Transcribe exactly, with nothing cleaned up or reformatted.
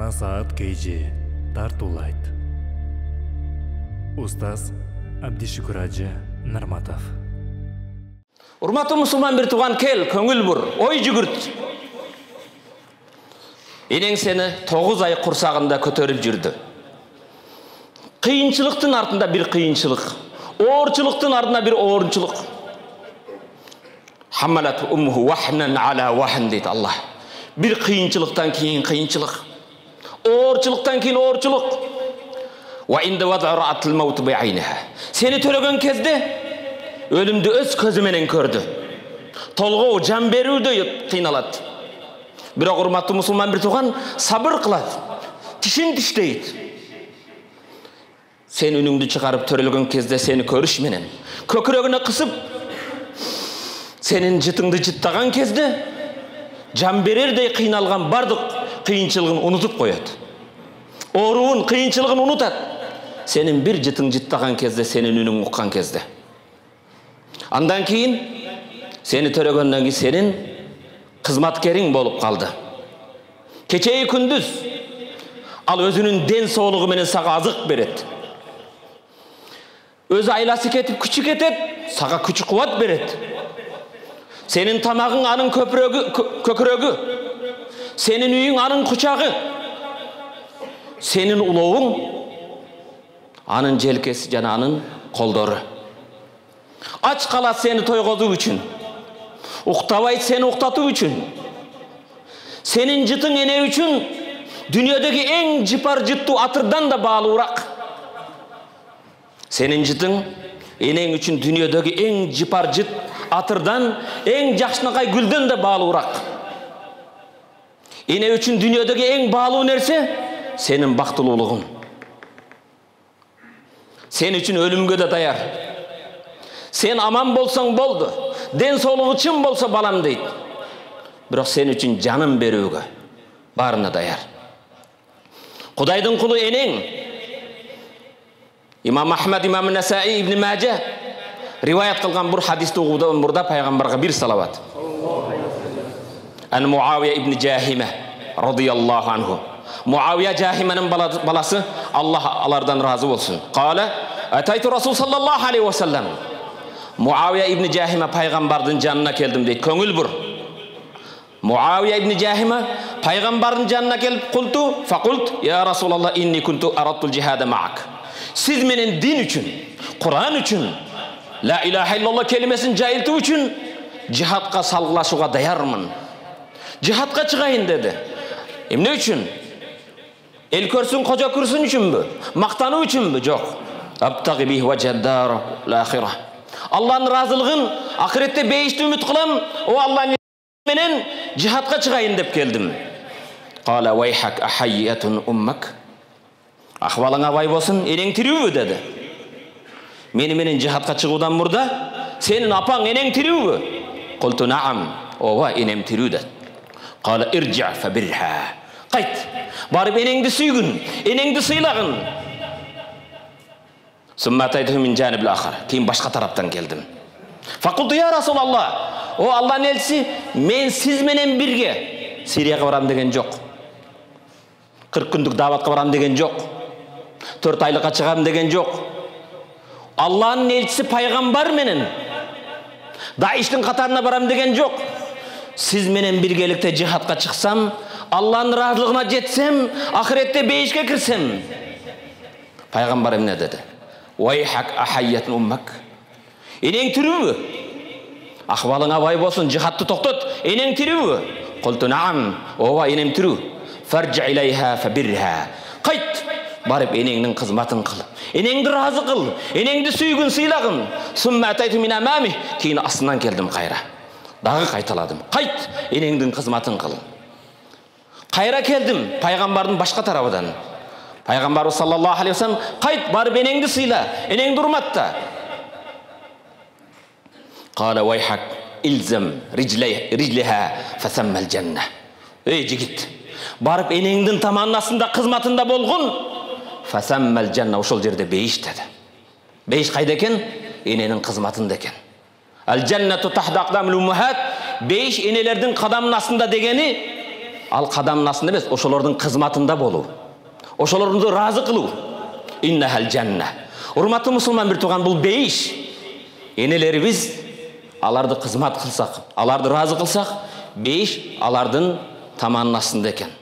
Жана саат кейжи тартуулайт. Устаз Абдишүкүр Ажы Нарматов. Урматтуу мусулман бир тууган, кел, көңүл бур, ой жүгүрт. Энең сени тогуз ай курсагында көтөрүп жүрдү. Кыйынчылыктын артында бир кыйынчылык, оорчулуктун артында бир оорчулук. Хамалат уммуху вахнан ала вахн дейт Аллах. Bir kıyınçılıktan keyin kıyınçılık, oorçuluktan keyin oorçuluk. Ve inde vad'a ra'atil mevtu bi'ayniha. Seni töregen kezde ölümdü öz közü menen kördü. Tolgoo, can berүүдө kıynalat. Biroq urmattуу musulman bir tuğan sabır kılat. Tişin tişteyit. Sen önüңdü çıkarıp törelgen kezde seni körüş menen kökürögüne kısıp senin jıtыңды jıttagan kezde can bererдей кыйналган бардык кыйынчылыгын унутуп коет. Ооруун, кыйынчылыгын унутат. Сенин бир жытың жыттаган кезде, сенин үнүң уккан кезде. Андан кийин сени төрөгөндөн кийин сенин кызматкериң болуп калды. Кечеи күндүз ал өзүнүн ден соолугу менен сага азык берет. Өзү айласы кетип күчү кетет, сага күч кубат берет. Senin tamağın anın köprögü, kökürögü. Senin üyün anın kuçağı. Senin uloğun anın jelkesi jana anın koldoru. Aç kalat seni toygozu üçün. Uktavay seni uktatu üçün. Senin jıtın ene üçün dünyadaki en jipar jıttı atırdan da bağlıurak. Senin jıtın enen üçün dünyadaki en jipar jıt atırdan, en jakşınakay gülden de bağlıurak. Ene üçün dünyadaki en bağlı nerse senin baktıluluğun. Sen üçün ölümge de dayar. Sen aman bolsan boldu. Den soluğu çın bolsa balam deyit. Biroq sen üçün canım berүүgө barına dayar. Kudaydın kulu eneң İmam Ahmad, İmam Nesai, İbn Majah rivayet kılgan bir hadiste uğudan burada Peygamber'e bir salavat. An Muaviye İbn Cahime radıyallahu anhu. Muaviye Cahime'nin balası, Allah alardan razı olsun. Kale, Ataytu Resul sallallahu aleyhi ve sellem. Muaviye İbn Cahime Peygamber'in canına geldim deyit. Köngül bur. Muaviye İbn Cahime Peygamber'in canına gelip kultu. Fakult, ya Resulallah inni kuntu arattul cihada ma'ak. Siz menen din üçün, Kur'an üçün, La ilahe illallah kelimesini jayıltуу üçün cihatqa salgılaşууга dayarmın. Cihatqa çıgayın dedi. Emne üçün? El körsün, koca kürsün üçünbü? Maqtanуу üçünbü? Yok. Abtagi bih veceddar l'ahira. Allah'ın razılığın ahirette beyişti ümit kılam. O Allah'ın menen cihatqa çıgayın dep geldim. Qala vayhak ahayyatun ummak. Ahvalına vay bolsun, eneң tiriүүbü dedi. Meni menen cihatqa çıgууdan murda senin apaң eneң tiriүүbü? Qultu na'am. Ova enem tirүү dedi. Qala irji' fabirha. Qayt. Barıp eneňdi süýgün, eneňdi sıylagın. Summa ataytuhu min janibil akhar. Keyin başka taraptan geldim. Faqultu ya Resulallah. O Allah'ın elçisi, men siz menen birge Siriyaga baram degen jok. kırk kündük davatqa baram degen jok. dört aylıkka çıgam degen jok. Allah'ın elçisi paygambar menen Daiş'tin katarına baram degen jok. Siz menen birgelikte cihatqa çıksam, Allah'ın razılığına jetsem, ahirette beyişke kirsem. Paygambar emne dedi? Vayhak ahayyatun ummak. Eneň tirүүbü? Ahvalıňa vay bolsun, cihatты toktot. Eneň tirүүbü? Qultu na'am. Ova enem tirүү. Farji' ilayha fabirha. Qayt. Barıp eneňiň kızmatyn kıl. Eneňdi razı kıl. Eneňdi süýgün, sıylagın. Summa ataytu min amami. Keyin asından geldim kayra. Dağı kaytaladım. Qayt. Eneňdiň kızmatyn kıl. Kayra geldim Peygamber'in başka tarafından. Peygamber sallallahu aleyhi ve sellem qayt barıp eneňdi sıyla. Eneň durmatda. Qala vayhak ilzam rijliha fasamma'l jannah. Ey jigit. Barıp eneňdiň tamannasında kızmatında bolgun. Fasamma'l jannah, uşol jerde beyiş dedi. Beyiş kayda eken? Enenin kızmatında eken. Al jannatu tahta aqdamil ummahat. Beyiş enelerdin kadamın aslında degeni ал кадамдын астында эмес, ошолордун кызматында болуу, ошолорду ыраазы кылуу. Иннахал жанна. Урматтуу мусулман бир тууган, бул бейиш. Энелерибиз аларды кызмат кылсак, аларды ыраазы кылсак, бейиш алардын таманынын астында экен.